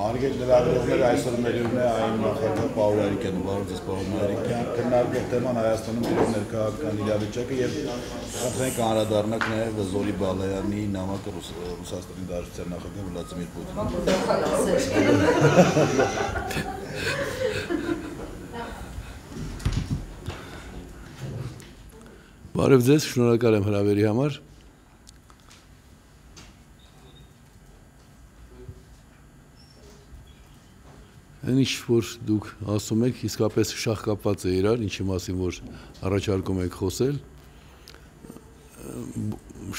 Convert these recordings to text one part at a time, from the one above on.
Արգել լրագրողները այսօր մերում է այն նախագահ Պաուլ Արիկյանը, բարոյ Պաուլ Արիկյան, քննարկող թեման Հայաստանում իրոք ներքաղաքական իրավիճակը եւ խնդրենք անդրադառնանք նաեւ Զորի Բալայանի նամակը Ռուսաստանի Դաշնության նախագահ Վլադիմիր Պուտինին։ Բարև ձեզ, շնորհակալ եմ հրավերի համար։ Ինչ որ դուք ասում եք, իսկապես շահ կապված է իրար, ինչի մասին որ առաջարկում եք խոսել։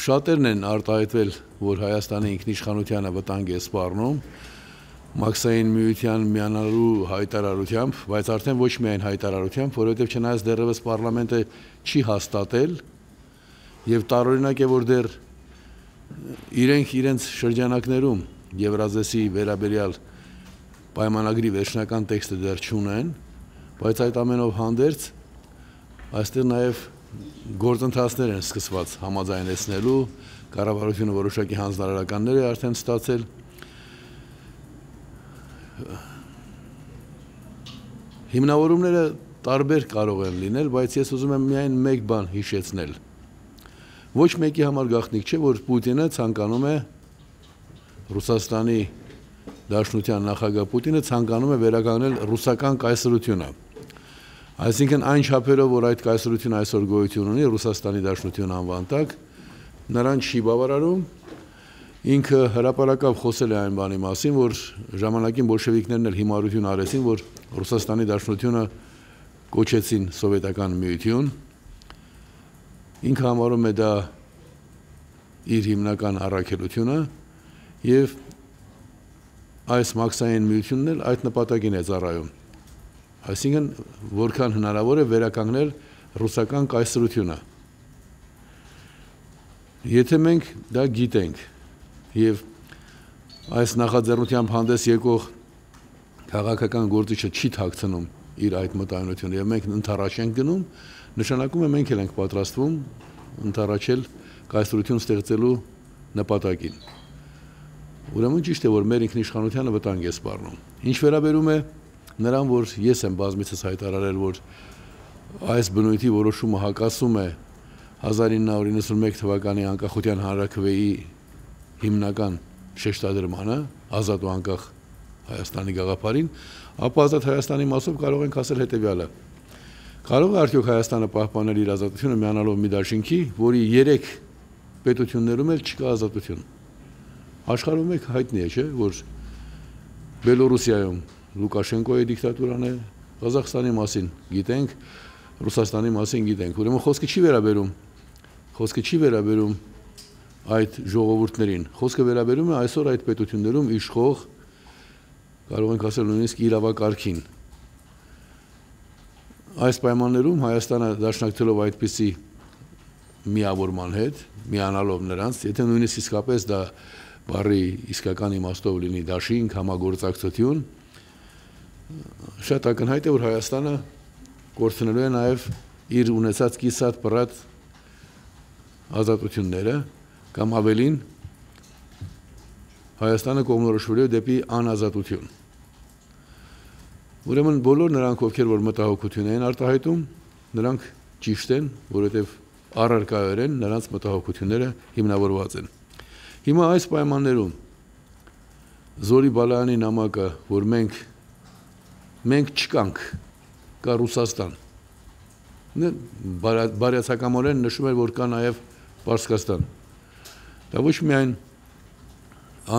Շատերն են արտահայտվել, որ Հայաստանի ինքնիշխանությանը վտանգ է սպառնում, Մաքսային միության միանալու հայտարարությամբ, բայց արդեն ոչ միայն հայտարարությամբ, որովհետև չնայած դեռևս պարլամենտը չի հաստատել եւ տարօրինակ է, որ դեռ իրենք իրենց շրջանակներում Եվրազեսի վերաբերյալ պայմանագրի վերջնական տեքստը դեռ չունեն, բայց այդ ամենով հանդերձ այստեղ նաև գործընթացներ են սկսված համաձայնեցնելու, կառավարությունը որոշակի հանձնարարականներ է արդեն ստացել։ Հիմնավորումները տարբեր կարող են լինել, բայց ես ուզում եմ միայն մեկ բան հիշեցնել։ Ոչ մեկի համար գաղտնիք չէ, որ Պուտինը ցանկանում է Ռուսաստանի Դաշնության նախագահ Պուտինը ցանկանում է վերականգնել ռուսական կայսրությունը։ Այսինքն այն չափերով, որ այդ կայսրությունը այսօր գոյություն ունի Ռուսաստանի Դաշնություն անվան տակ, նրան չի բավարարում։ Ինքը հրապարակավ խոսել է այն բանի մասին, որ ժամանակին բոլշևիկներն էլ հիմարություն արեցին, որ Ռուսաստանի Դաշնությունը կոչեցին սովետական միություն։ Ինքը համարում է դա իր հիմնական առաքելությունը եւ այս Մաքսային միությունն էլ այդ նպատակին է ծառայում։ Այսինքն, որքան հնարավոր է վերականգնել ռուսական կայսրությունը։ Եթե մենք դա գիտենք եւ այս նախաձեռնությամբ հանդես եկող քաղաքական գործիչը չի թաքցնում իր այդ մտայնությունը եւ մենք ընդառաջ ենք գնում, նշանակում է մենք էլ ենք պատրաստվում ընդառաջել կայսրություն ստեղծելու նպատակին։ Ուրեմն ճիշտ է, որ մեր ինքնիշխանությանը վտանգ է սպառնում։ Ինչ վերաբերում է նրան, որ ես եմ բազմիցս հայտարարել, որ այս բնույթի որոշումը հակասում է 1991 թվականի անկախության հանրաքվեի հիմնական շեշտադրմանը, ազատ ու անկախ Հայաստանի գաղափարին, ապա ազատ Հայաստանի մասով կարող ենք ասել հետևյալը. կարող է արդյոք Հայաստանը պահպանել իր ազատությունը միանալով մի դաշինքի, որի 3 պետություններում էլ չկա ազատություն։ Աշխարհում մեկ հայտնի է, չէ, որ Բելոռուսիայում Լուկաշենկոյի դիկտատուրան է, Ղազախստանի մասին գիտենք, Ռուսաստանի մասին գիտենք։ Ուրեմն խոսքը չի վերաբերում այդ ժողովուրդներին, խոսքը վերաբերում է այսօր այդ պետություններում իշխող, կարող ենք ասել նույնիսկ իրավակարգին։ Այս պայմաններում Հայաստանը դաշնակցելով այդպիսի միավորման հետ, միանալով նրանց, եթե նույնիսկ իսկապես դա բառի իսկական իմաստով լինի դաշինք, համագործակցություն, շատ ակնհայտ է, որ Հայաստանը կորցնելու է նաև իր ունեցած կիսատ պռատ ազատությունները, կամ ավելին Հայաստանը կողմնորոշվելու է դեպի անազատություն։ Ուրեմն բոլոր նրանք, ովքեր որ մտահոգություն են արտահայտում, նրանք ճիշտ են, որովհետև առարկայորեն նրանց մտահոգությունները հիմնավորված են։ Հիմա այս պայմաններում Զորի Բալայանի նամակը, որ մենք չկանք, կա Ռուսաստան, բարյացակամորեն նշում է, որ կա նաև Պարսկաստան։ Դա ոչ միայն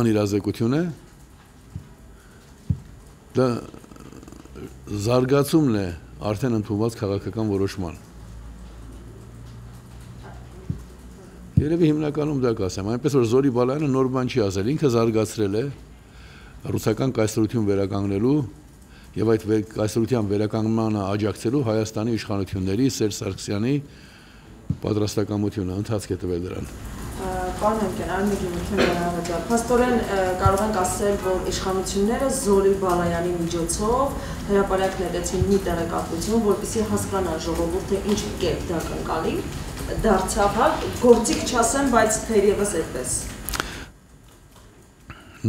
անիրազեկություն է, դա զարգացումն է արդեն ընդունված քաղաքական որոշման։ Երևի հիմնականում դա կասեմ, այնպես որ Զորի Բալայանը նոր բան չի ասել, ինքը զարգացրել է ռուսական կայսրություն վերականգնելու եւ այդ կայսրության վերականգնմանը աջակցելու Հայաստանի իշխանությունների Սերժ Սարգսյանի պատրաստակամությունը, ընթացք է տվել դրան։ Պարոն Արիկյան, այլ մեկ իմ փաստորեն կարող ենք ասել, որ իշխանությունները Զորի Բալայանի միջոցով հրապարակ նետեցին մի տեղեկատվություն, որպեսզի հասկանան ժողովուրդը ինչ կերպ դա կընկալի, դարձավ, գործիք չասեմ, բայց թերևս այդպես։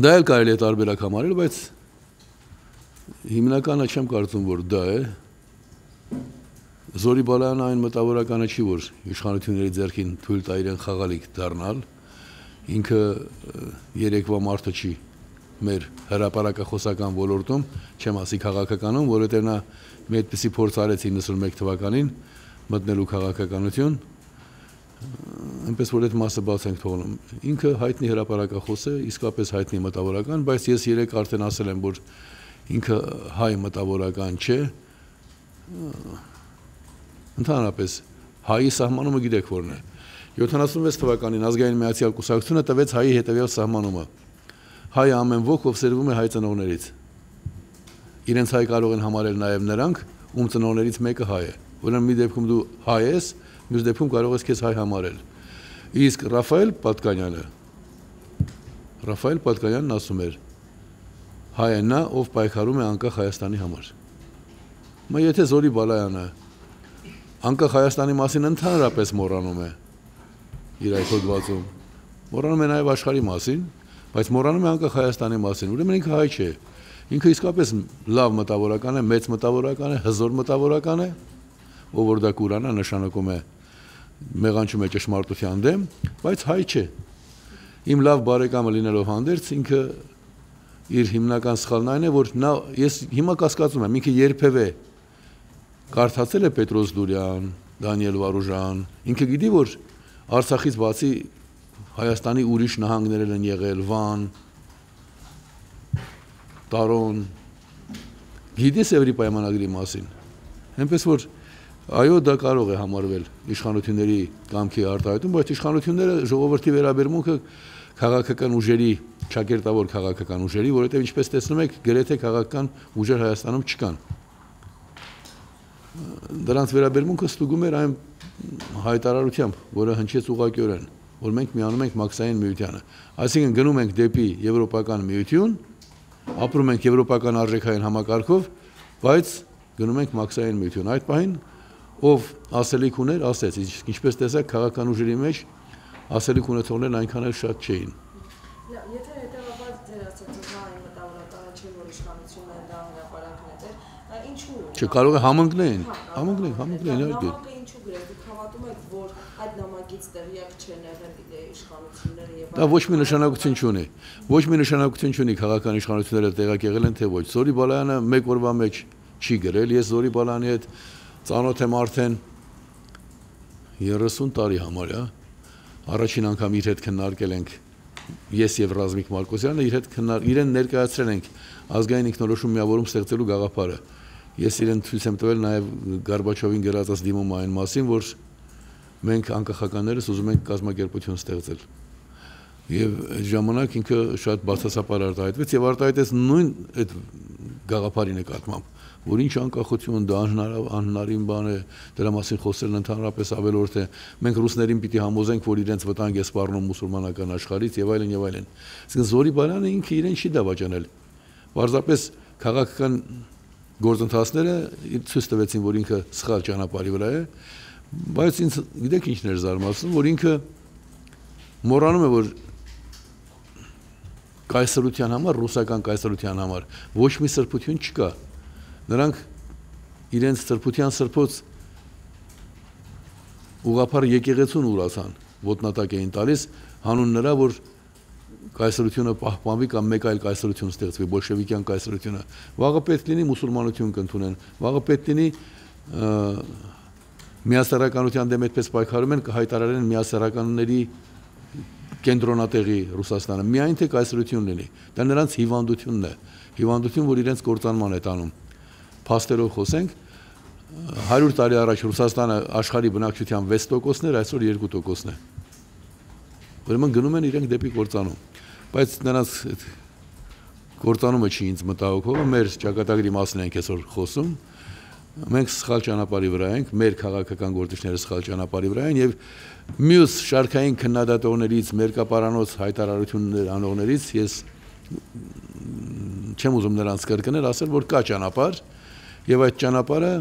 Դա էլ կարելի է տարբերակ համարել, բայց հիմնականը չեմ կարծում, որ դա է։ Զորի Բալայանը այն մտավորականը չի, որ իշխանությունների ձեռքին թույլ տա իրեն խաղալիք դառնալ, ինքը երեկվա մարդը չի մեր հրապարակախոսական ոլորտում, չեմ ասի քաղաքականում, որովհետև նա մի այդպիսի փորձ արեց 91 թվականին մտնելու քաղաքականություն, այնպես որ այդ մասը բաց ենք թողնում։ Ինքը հայտնի հրապարակախոս է, իսկապես հայտնի մտավորական, բայց ես երեք արդեն ասել եմ, որ ինքը հայ մտավորական չէ, ընդհանրապես հայի սահմանումը գիտեք որն է։ 76 թվականին ազգային միացյալ կուսակցությունը տվեց հայի հետևյալ սահմանումը. հայը ամեն ոք, ով սերվում է հայ ծնողներից։ Իրենց հայ կարող են համարել նաև նրանք, ում ծնողներից մեկը հայ է։ Ուրեմն մի դեպքում դու հայ ես, մյուս դեպքում կարող ես քեզ հայ համարել։ Իսկ Ռաֆայել Պատկանյանն ասում էր. հայ է նա, ով պայքարում է անկախ Հայաստանի համար։ Եթե Զորի Բալայանը անկախ Հայաստանի մասին ընդհանրապես մոռանում է իր այդ հոդվածում, մոռանում է նաև աշխարհի մասին, բայց մոռանում է անկախ Հայաստանի մասին, ուրեմն ինքը հայ չէ։ Ինքը իսկապես լավ մտավորական է, մեծ մտավորական է, հզոր մտավորական է, ով որ դա կուրանա նշանակում է մեղանչում է ճշմարտության դեմ, բայց հայ չէ։ Իմ լավ բարեկամը լինելով հանդերձ, ինքը իր հիմնական սխալն այն է, որ ես հիմա կասկածում եմ, ինքը երբևէ կարդացել է Պետրոս Դուրյան, Դանիել Վարուժան, ինքը գիտի, որ Արցախից բացի Հայաստանի ուրիշ նահանգներ են եղել, Վան, Տարոն, գիտի Սևրի պայմանագրի մասին, այնպես որ այո, դա կարող է համարվել իշխանությունների կամքի արտահայտում, բայց իշխանությունները ժողովրդի վերաբերմունքը քաղաքական ուժերի, ճակերտավոր քաղաքական ուժերի, որովհետև ինչպես տեսնում եք, գրեթե քաղաքական ուժեր Հայաստանում չկան։ Դրանց վերաբերմունքը ստուգում էր այն հայտարարությամբ, որը հնչեց ուղղակիորեն, որ մենք միանում ենք մաքսային միությանը։ Այսինքն գնում ենք դեպի Եվրոպական միություն, ապրում ենք եվրոպական արժեքային համակարգով, բայց գնում ենք մաքսային միություն։ Այդ պահին ով ասելիք ուներ, ասեց, ինչպես տեսակ քաղաքական ուժերի մեջ ասելիք ունեցողներն այնքան էլ շատ չէին։ Եթե հետևաբար ձեր ասածը այն մտավորականը չէ, որ իշխանությունները դա հրապարակն է, ինչու՞։ Չկարող է համընկնեն, իհարկե։ Ինչու գրել, դուք հավատում եք, որ այդ նամակից տեղյակ չեն եղել իշխանությունները եւ դա ոչ մի նշանակություն չունի։ Ոչ մի նշանակություն չունի քաղաքական իշխանությունները տեղյակ եղել են թե ոչ։ Զորի Բալայանը մեկ օրվա մեջ չի գրել, ես Զորի Բալայանի հետ ծանոթ եմ արդեն 30 տարի համարյա, առաջին անգամ իր հետ քննարկել ենք ես եւ Ռազմիկ Մարկոսյանը, իրեն ներկայացրել ենք ազգային ինքնորոշում միավորում ստեղծելու գաղափարը։ Ես իրեն ցույց եմ տվել նաեւ Գորբաչովին գրածած դիմումը այն մասին, որ մենք անկախականներս ուզում ենք կազմակերպություն ստեղծել։ Եվ այդ ժամանակ ինքը շատ բացասապար արտահայտվեց եւ արտահայտեց նույն այդ գաղափարի նկատմամբ, որ ինչ անկախություն, դա անհնարին բան է, դրա մասին խոսելն ընդհանրապես ավելորդ է։ Մենք ռուսներին պիտի համոզենք, որ իրենց վտանգ է սպառնում մուսուլմանական աշխարհից եւ այլն եւ այլն։ Այսինքն Զորի Բալայանը ինքը իրեն չի դավաճանել։ Պարզապես քաղաքական գործընթացները ցույց տվեցին, որ ինքը սխալ ճանապարհի վրա է, բայց ինձ գիտեք ինչն էր զարմացնում, որ ինքը մոռանում է, որ կայսրության համար, ռուսական կայսրության համար ոչ մի սրբություն չկա։ Նրանք իրենց սրբության սրբոց ուղղափառ եկեղեցուն ուրացան, ոտնատակ էին տալիս, հանուն նրա, որ կայսրությունը պահպանվի կամ մեկ այլ կայսրություն ստեղծվի, բոլշևիկյան կայսրությունը։ Վաղը պետք լինի մուսուլմանություն կընդունեն, վաղը պետք լինի միասեռականության դեմ այդպես պայքարում են, կհայտարարեն միասեռականների կենտրոնատեղի Ռուսաստանը, միայն թե կայսրություն լինի։ Դա նրանց հիվանդությունն է, հիվանդություն, որ իրենց կործանման է տանում։ Փաստերով խոսենք, 100 տարի առաջ Ռուսաստանը աշխարհի բնակչության 6%-ն էր, այսօր 2%-ն է։ Ուրեմն գնում են իրենք դեպի կործանում։ Բայց նրանց կործանումը չի ինձ մտահոգողը, մեր ճակատագրի մասին ենք այսօր խոսում։ Մենք սխալ ճանապարհի վրա ենք, մեր քաղաքական գործիչները սխալ ճանապարհի վրա են եւ մյուս շարքային քննադատողներից, մերկապարանոց հայտարարություններ անողներից ես չեմ ուզում նրանց կրկնել, ասել, որ կա ճանապարհ եւ այդ ճանապարհը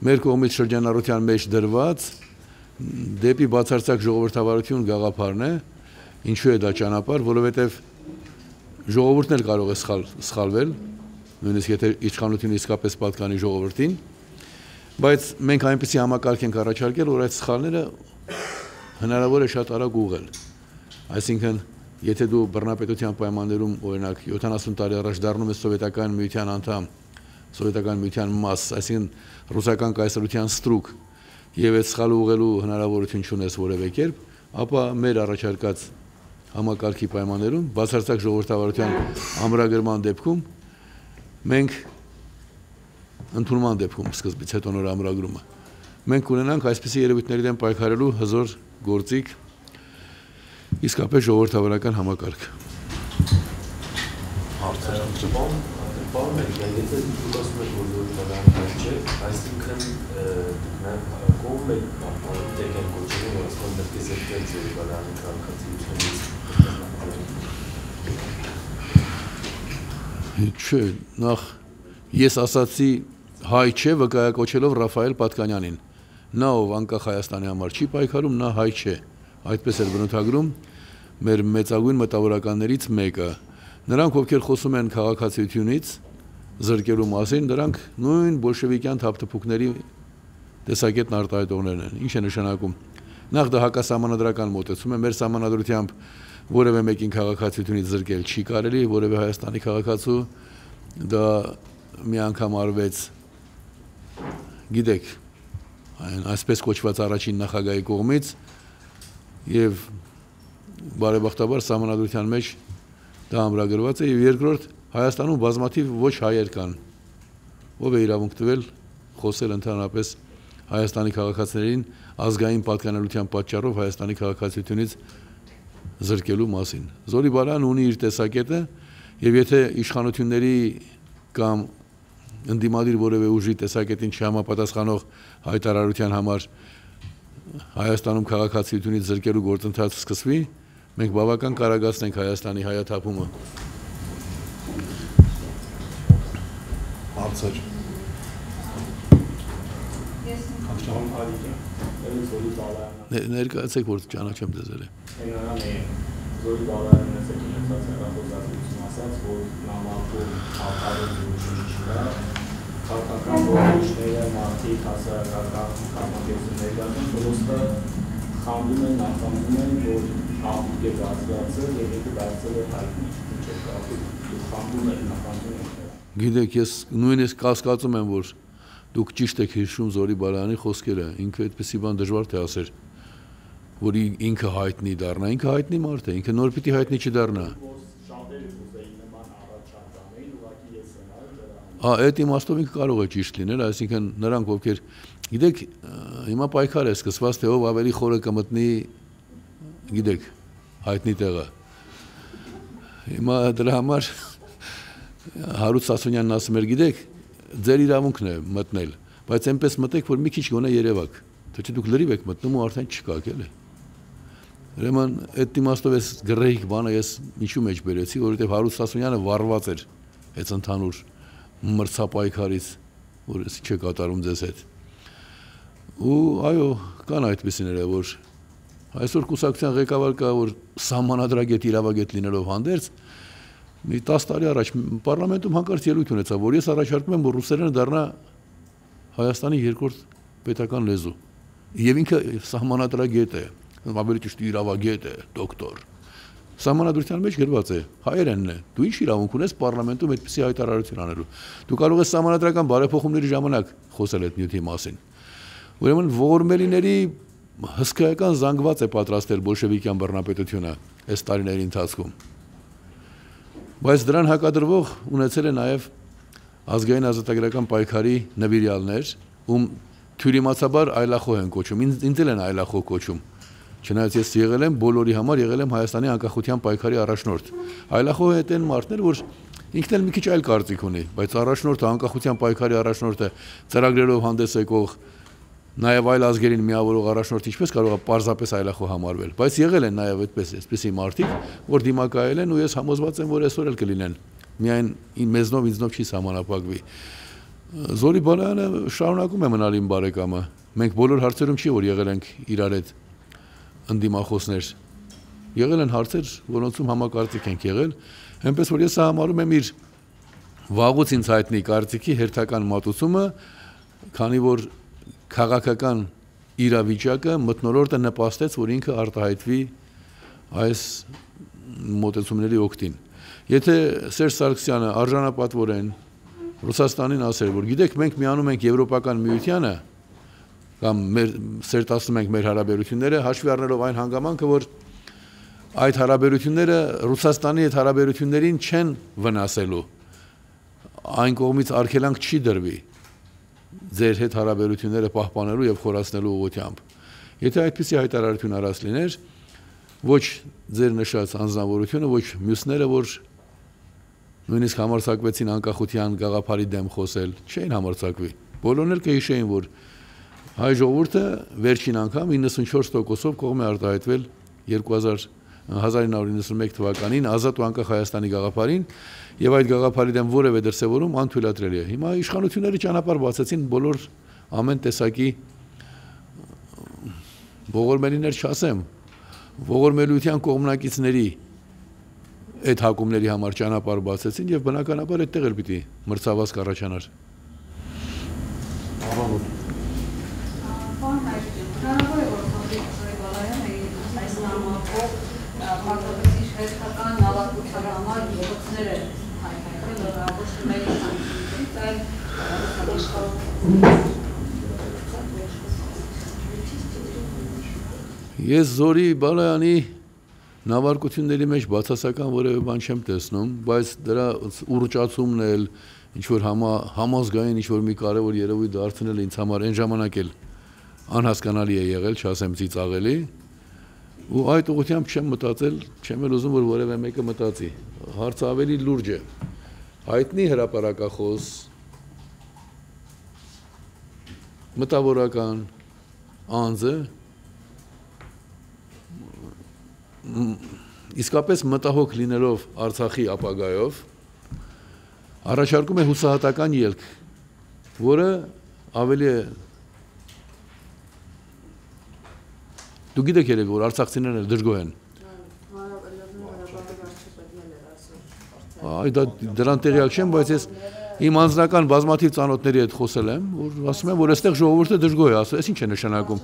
մեր կողմից շրջանառության մեջ դրված դեպի բացարձակ ժողովրդավարություն գաղափարն է։ Ինչու է դա ճանապարհ, որովհետեւ ժողովուրդն էլ կարող է սխալվել, նույնիսկ եթե իշխանությունը իսկապես պատկանի ժողովրդին, բայց մենք այնպեսի համակարգ ենք առաջարկել, որ այդ սխալները հնարավոր է շատ արագ ուղղել։ Այսինքն, եթե դու բռնապետության պայմաններում, օրինակ 70 տարի առաջ դառնում ես սովետական միության անդամ, սովետական միության մաս, այսինքն ռուսական կայսրության ստրուկ, եւ այդ սխալը ուղղելու հնարավորություն չունես որևէ կերպ, ապա մեր առաջարկած համակարգի պայմաններում, բացարձակ ժողովրդավարության ամրագրման դեպքում մենք ընդունման դեպքում սկզբից հետո նոր ամրագրումը մենք կունենանք այսպիսի երևույթների դեմ պայքարելու հզոր գործիք իսկապես ժողովրդավարական համակարգ։ Պարոն Մերկյան, եթե դուք ասում եք, որ ժողովրդավարական չէ, այսինքն կողմ եք դեպի կոչում, որ ասում եք դեպի զերքել ժողովրդավարանի քաղաքացիությունից։ Չէ, նախ ես ասացի հայ չէ, վկայակոչելով Ռաֆայել Պատկանյանին։ Նա ով անկախ Հայաստանի համար չի պայքարում, նա հայ չէ։ Այդպես էր բնութագրում մեր մեծագույն մտավորականներից մեկը։ Նրանք, ովքեր խոսում են քաղաքացիությունից զրկելու մասին, դրանք նույն բոլշևիկյան թափթփուկների տեսակետն արտահայտողներն են։ Ինչ է նշանակում։ Նախ դա հակասահմանադրական մոտեցում է, մեր սահմանադրությամբ որևէ մեկին քաղաքացիությունից զրկել չի կարելի, որևէ Հայաստանի քաղաքացու դա մի անգամ արվեց, գիտեք, այսպես կոչված առաջին նախագահի կողմից եւ բարեբախտաբար սահմանադրության մեջ դա ամրագրված է եւ երկրորդ Հայաստանում բազմաթիվ ոչ հայեր կան, ով է իրավունք տվել խոսել ընդհանրապես Հայաստանի քաղաքացիներին ազգային պատկանելիության պատճառով Հայաստանի քաղաքացիությունից զրկելու մասին։ Զորի Բալայանն ունի իր տեսակետը եւ եթե իշխանությունների կամ ընդդիմադիր որևէ ուժի տեսակետին չհամապատասխանող հայտարարության համար Հայաստանում քաղաքացիությունից զրկելու գործընթաց սկսվի, մենք բավական կարագացնենք Հայաստանի հայաթափումը։ Հարցեր։ Ներկայացեք, որ ճանաչեմ ձեզ։ Զորի Բալայանը ունեցած հեռախոսազրույցում ասաց, որ նամակում ապարդյունություն չկա, քաղաքական գործիչները, մարդիկ, հասարակական կազմակերպություններ կան, պրոստը խանդում են, նախանձում են, որ աղմուկ է բացվածել եւ եթե դարձել է հայտնի, ինչ է կապում, խանդում են, նախանձում են։ Գիտեք, ես նույնիսկ կասկածում եմ, որ դուք ճիշտ եք հիշում Զորի Բալայանի խոսքերը, ինքը այդպեսի բան դժվար թե ասեր, որ ինքը հայտնի դառնա, ինքը հայտնի մարդ է, ինքը նոր պիտի հայտնի չդառնա։ Այդ իմաստով ինքը կարող է ճիշտ լինել, այսինքն նրանք ովքեր, գիտեք, հիմա պայքար է սկսված, թե ով ավելի խորը կմտնի, գիտեք, հայտնի տեղը։ Հիմա դրա համար Հարութ Սասունյանն ասում էր, գիտեք, ձեր իրավունքն է մտնել, բայց այնպես մտեք, որ մի քիչ գոնե երևաք, թե չէ դուք լրիվ եք մտնում ու արդեն չկաք, էլի։ Ուրեմն այդ իմաստով էս գրեհիկ բանը ես ինչու մեջ բերեցի, որովհետև Հարութ Սասունյանը վառված էր այս ընդհանուր մրցապայքարից, որ էս չէ կատարում ձեզ հետ։ Ու այո, կան այդպիսիները, որ այսօր կուսակցության ղեկավար կա, որ սահմանադրագետ իրավագետ լինելով հանդերձ մի 10 տարի առաջ պարլամենտում հանկարծ ելույթ ունեցավ, որ ես առաջարկում եմ, որ ռուսերենը դառնա Հայաստանի երկրորդ պետական լեզու։ Եվ ինքը սահմանադրագետ է, ավելի ճիշտ իրավագետ է, դոկտոր։ Սահմանադրության մեջ գրված է, հայերենն է։ Դու ինչ իրավունք ունես պարլամենտում այդպիսի հայտարարություն անելու։ Դու կարող ես սահմանադրական բարեփոխումների ժամանակ խոսել այդ նյութի մասին։ Ուրեմն ողորմելիների հսկայական զանգված է պատրաստել բոլշևիկյան բռնապետությունը այս տարիների ընթացքում։ Բայց դրան հակադրվող ունեցել է նաև ազգային ազատագրական պայքարի նվիրյալներ, ում թյուրիմացաբար այլախոհ են կոչում, ինձ էլ են այլախոհ կոչում, չնայած ես եղել եմ բոլորի համար եղել եմ Հայաստանի անկախության պայքարի առաջնորդ։ Այլախոհ է այն մարդներ, որ ինքն էլ մի քիչ այլ կարծիք ունի, բայց առաջնորդը անկախության պայքարի առաջնորդը ծրագրերով հանդես եկող նաև այլ ազգերին միավորող առաջնորդ ինչպես կարող է պարզապես այլախոհ համարվել, բայց եղել են նաև այդպիսի մարդիկ, որ դիմակայել են ու ես համոզված եմ, որ այսօր էլ կլինեն, միայն մեզնով ինձնով չի սահմանափակվի։ Զորի Բալայանը շարունակում է մնալ իմ բարեկամը, մենք բոլոր հարցերում չի, որ եղել ենք իրար հետ ընդդիմախոսներ, եղել են հարցեր, որոնցում համակարծիք ենք եղել, այնպես որ ես համարում եմ իր վաղուց ինձ հայտնի կարծիքի հերթական մատուցումը, քանի որ քաղաքական իրավիճակը մթնոլորտը նպաստեց, որ ինքը արտահայտվի այս մոտեցումների օգտին։ Եթե Սերժ Սարգսյանը արժանապատվորեն Ռուսաստանին ասել, որ գիտեք, մենք միանում ենք Եվրոպական միությանը կամ սերտացնում ենք մեր հարաբերությունները, հաշվի առնելով այն հանգամանքը, որ այդ հարաբերությունները Ռուսաստանի հետ հարաբերություններին չեն վնասելու, այն կողմից արգելանք չի դրվի ձեր հետ հարաբերությունները պահպանելու եւ խորացնելու ուղղությամբ։ Եթե այդպիսի հայտարարություն արած լիներ, ոչ ձեր նշած անձնավորությունը, ոչ մյուսները, որ նույնիսկ համարձակվեցին անկախության գաղափարի դեմ խոսել, չէին համարձակվի։ Բոլորն էլ կհիշեին, որ հայ ժողովուրդը վերջին անգամ 94%-ով կողմ է արտահայտվել 1991 թվականին ազատ ու անկախ Հայաստանի գաղափարին եւ այդ գաղափարի դեմ որևէ դրսեւորում անթույլատրելի է։ Հիմա իշխանությունները ճանապարհ բացեցին բոլոր ամեն տեսակի ողորմելիներ չասեմ, ողորմելիության կողմնակիցների այդ հակումների համար ճանապարհ բացեցին եւ բնականաբար այդտեղ էլ պիտի մրցավազք առաջանար։ Ես Զորի Բալայանի նավարկությունների մեջ բացասական որևէ բան չեմ տեսնում, բայց դրա ուռճացումն էլ ինչ-որ համազգային ինչ-որ մի կարևոր երևույթ դարձնել ինձ համար այն ժամանակ էլ անհասկանալի է եղել, չասեմ ծիծաղելի, ու այդ ուղղությամբ չեմ մտածել, չեմ էլ ուզում, որ որևէ մեկը մտածի։ Հարցը ավելի լուրջ է։ Հայտնի հրապարակախոս, մտավորական անձը իսկապես մտահոգ լինելով Արցախի ապագայով առաջարկում է հուսահատական ելք, որը ավելի է դու գիտեք երևի, որ արցախցիներն դժգոհ են։ Դրան տեղյակ չեմ, բայց ես իմ անձնական բազմաթիվ ծանոթների հետ խոսել եմ, որ ասում եմ, որ այստեղ ժողովուրդը դժգոհ է, ասում, այս ինչ է նշանակում։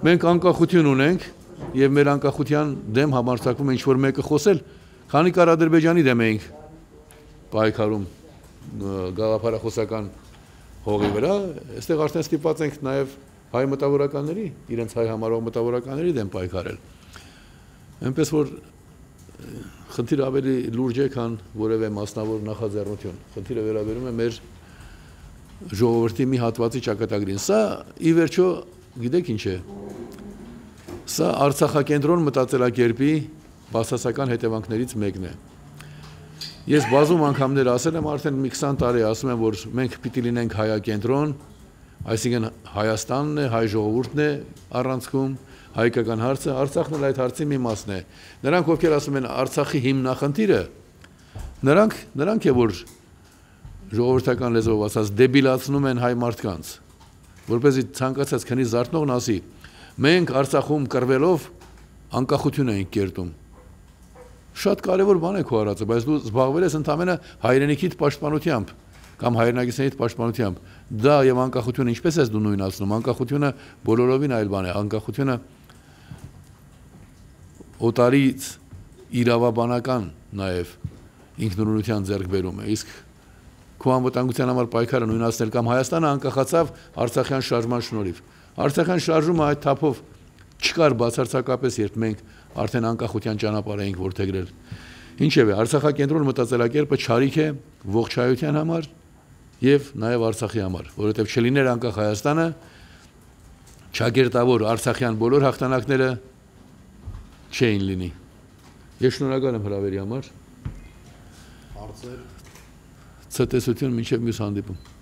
Մենք անկախություն ունենք եւ մեր անկախության դեմ համարձակվում է ինչ-որ մեկը խոսել, քանի կար Ադրբեջանի դեմ էինք պայքարում գաղափարախոսական հողի վրա, այստեղ արդեն ստիպված ենք նաեւ հայ մտավորականների, իրենց հայ համարող մտավորականների դեմ պայքարել։ Այնպես որ խնդիրը ավելի լուրջ է, քան որևէ մասնավոր նախաձեռնություն։ Խնդիրը վերաբերում է մեր ժողովրդի մի հատվածի ճակատագրին։ Սա ի վերջո, գիտեք ինչ է։ Սա Արցախակենտրոն մտածելակերպի բացասական հետևանքներից մեկն է։ Ես բազում անգամներ ասել եմ, արդեն մի 20 տարի ասում եմ, որ մենք պիտի լինենք հայակենտրոն, այսինքն Հայաստանն է, հայ ժողովուրդն է առանցքում, հայկական հարցը, Արցախն էլ այդ հարցի մի մասն է։ Նրանք, ովքեր ասում են Արցախի հիմնախնդիրը, նրանք է, որ ժողովրդական լեզվով ասած դեբիլացնում են հայ մարդկանց, որպեսզի ցանկացած քնի զարթնողն ասի, մենք Արցախում կռվելով անկախություն ենք կերտում։ Շատ կարևոր բան է քո արածը, բայց դու զբաղվել ես ընդամենը հայրենիքիդ պաշտպանությամբ կամ հայրենակիցներիդ պաշտպանությամբ։ Դա եւ անկախությունը ինչպես ես դու նույնացնում։ Անկախությունը բոլորովին այլ բան է։ Անկախությունը օտարից իրավաբանական նաեւ ինքնուրույնության ձեռքբերում է։ Իսկ քո անվտանգության համար պայքարը նույնացնել կամ Հայաստանը անկախացավ Արցախյան շարժման շնորհիվ։ Արցախյան շարժումը այդ թափով չկար բացարձակապես, երբ մենք արդեն անկախության ճանապարհ էինք որդեգրել։ Ինչևէ, Արցախակենտրոն մտածելակերպը չարիք է ողջ հայության համար եւ նաեւ Արցախի համար, որովհետեւ չլիներ անկախ Հայաստանը, չագերտավոր Արցախյան բոլոր հաղթանակները չէին լինի։ Ես շնորհակալ եմ հրավերի համար։ Հարցեր։ Ցտեսություն մինչև մյուս հանդիպում։